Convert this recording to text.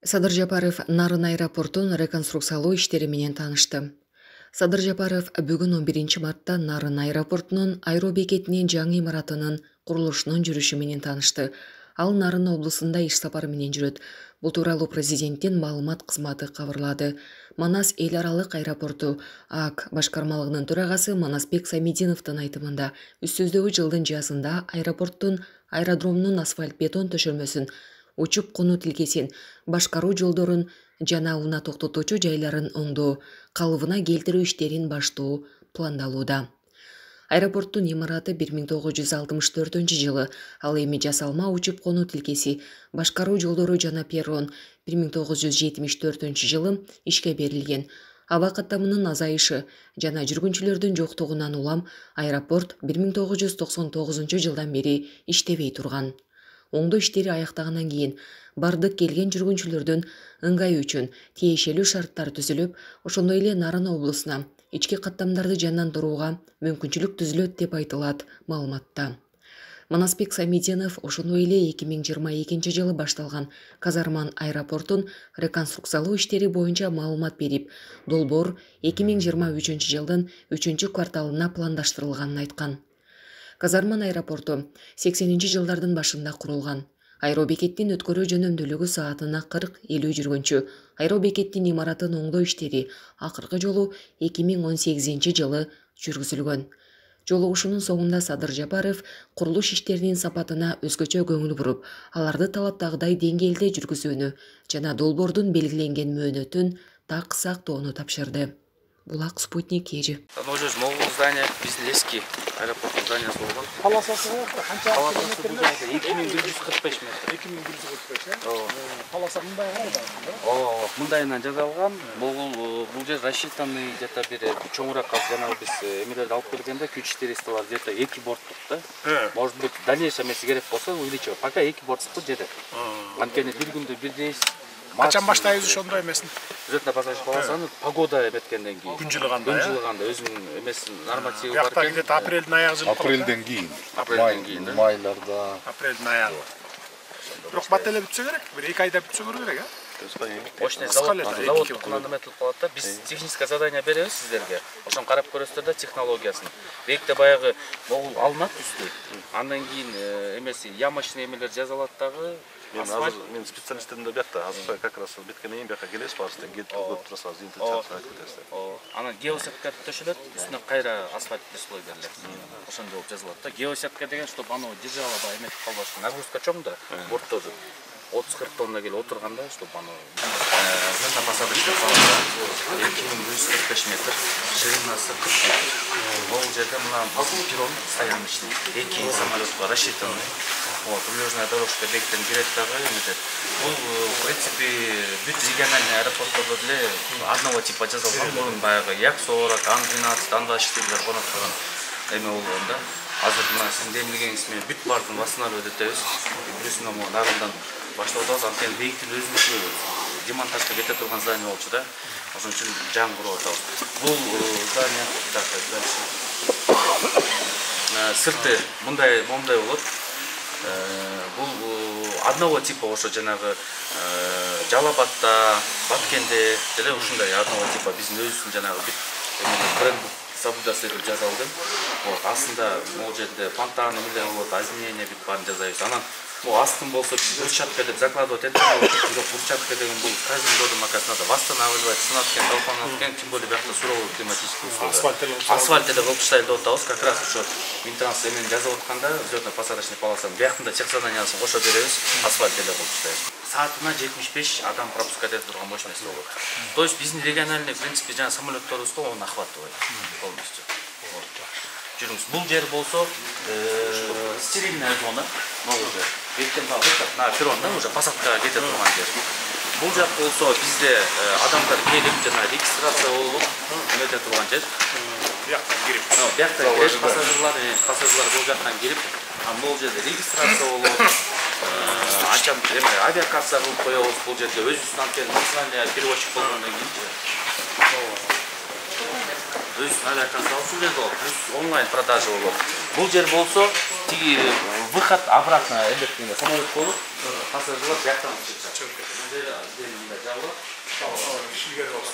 Садыр Жапаров Нарын аэропортун реконструкциялоо иштери менен таанышты. Садыр Жапаров бүгүн 11 мартта Нарын аэропортунун аэробекетинин жаңы имаратынын курулушунун жүрүшү менен таанышты. Ал Нарын облусунда иш сапары менен жүрөт. Бул тууралуу президенттин маалымат кызматы кабарлады. Манас эл аралык аэропорту ААК башкармалыгынын төрагасы Манасбек Самидиновдун айтымында үстүздөгү жылдын жазында аэродромдун асфальт бетон төшөлмөсүн, учуп конуу тилкесин, башкаруу жолдорун жана унаа токтотуучу жайларын оңдоо, калыбына келтирүү иштерин баштоо пландалууда. Аэропорттун имараты 1964 жылы, ал эми жасалма учуп конуу тилкеси, башкаруу жолдору жана перрон 1974 жылы ишке берилген. Аба каттамынын азайышы жана жүргүнчүлөрдүн жоктугунан улам аэропорт 1999 жылдан бери иштебей турган. Оңдоо иштери аяктагандан кийин бардык келген жүргүнчүлөрдүн ыңгайы үчүн тиешелүү шарттар түзүлүп, ошондой эле Нарын облусуна ички каттамдарды жандандырууга мүмкүнчүлүк түзүлөт деп айтылат маалыматта. Манасбек Самидинов ошондой эле 2022 жылы башталган Казарман аэропортун реконструкциялоо иштери боюнча маалымат берип, долбоор 2023 жылдын 3-кварталына пландаштырылганын айткан. Казарман аэропорту 80-жылдардын башында курулган. Аэробекеттин өткөрүү жөнөмдүүлүгү саатына 40-50 жүргүнчү. Аэробекеттин имаратын оңдоо иштери акыркы жолу 2018 жылы жүргүзүлгөн. Жолугушуунун соңунда Садыр Жапаров курулуш иштеринин сапатына өзгөчө көңүл буруп, аларды талаптагыдай деңгээлде жүргүзүүнү жана долбоордун белгиленген мөөнөтүн так сактоону тапшырды. Булак Спутник ежи. Уже новое здание, Бизлеский аэропорт зданиясы болгон. Полосасы канча метр? 2145 метр. 2145, полоса мындай карайбы? Мындайынан жасалган. Бул жер рассчитанный где-то бир чоңураак жанагы биз эмелерди алып келгенде күч иштери где-то 2 борттук да. Может быть, дальнейшем если керек болсо увеличивать. Пока 2 борттук жетет. Анткени бир күндө бир рейс. Качан баштайбыз ошондой эмесин? Өзөтүнө пассажир полосаны погода эметкенден кийин. Күн жылыганда, өзүнүн эмесин нормативи бар экен. Бияқта апрелдин аягы жылы. Апрелден кийин. Майларда. Апрелдин аягы. Бирок бат эле бүтсө керек. Бир 2 айда бүтсө керек, Мощный завод куланып этилип калат да. Биз техническое задание беребиз сиздерге. Ошону карап көрөсүздөр да технологиясын. Бекте баягы могул алынат үстү. Андан кийин эмеси ямочный эмелер жазалат дагы. Мен специалисттеримде биякта азыр как раз биткенден кийин бияка келесиз барысында кетип турасыз, интеграция кетесиз. Анан геосетка төшөлөт, үстүнө кайра асфальт слой берилет. Ошондой болуп жазылат да. Геосетка деген, чтобы аны держало ба эметип калбасын. Нагрузка чоң да, борттозу 30-40 тонна келип отурганда, чтобы аны взлетно-посадочный полоса 2145 метр, ширинасы 40 метр. Бул жерде мына перрон стояночный, 2 самолетко рассчитанный. Прилежная дорожка бектен кирет дагы эметет. Бул, в принципе, бүт региональный аэропорттордо деле одного типа жасалган. Мурун баягы Як-40, Ан-12, Ан-24 конот турган эме болгон да. Азыр мына сиздин демилгениңиз менен бүт бардын восстановить этебиз. Бирөөсүнө могу Нарындан баштап атабыз. Анткени бейиктин өзүнүкү демонтажга кете турган здание болчу да. Ошон үчүн жаңы куруп атабыз. Бул здание сырты мындай болот. Бул одного типа ошо жанагы Жалал-Абадта, Баткенде деле ушундай одного типа биздин өзүбүздүн жанагы бренд соблюдаться этип жасалды. Астында могул жерде фонтан эмелер болот, озонение бүт баарын жасайбыз. Анан астын болсо биз брусчатка деп закладывать эткен болчу. Бирок брусчатка деген бул каждым годом надо восстанавливать, сынап экен, талканып экен, тем более биякта суровый климатический условия. Асфальт эле кылып таштайлы деп атабыз. Как раз ошо мейнтенанс эмени жазып атканда взлетно-посадочный полосанын бияктын да тех заданиясын кошо беребиз, асфальт эле кылып таштайбыз. Саатына 75 адам пропускать этип турган мощность болот. То есть биздин региональный, в принципе, жана самолетторубузга оны охватывает полностью. Жүрүңүз. Бул жер болсо стерильная зона, могул жер. Беттен на перронда уже посадка кете турган жер. Бул жак болсо бизде адамдар келип жана регистрация болуп эмете турган жер. Бияктан кирип. Бияктан кирип пассажирлар бул жактан кирип, бул жерде регистрация болуп, ачам авиакасса кылып коебуз бул жерде. Өзүбүздүн анткени национальный перевозчик болгондон кийин өзүнүн авиакасса алып жүргөн болот, плюс онлайн продажа болот. Бул жер болсо тиги выход обратно эмдеткенде самолет болуп пассажирлар жактан чыгып кетет. Мындай жабылат. Кишилер болот.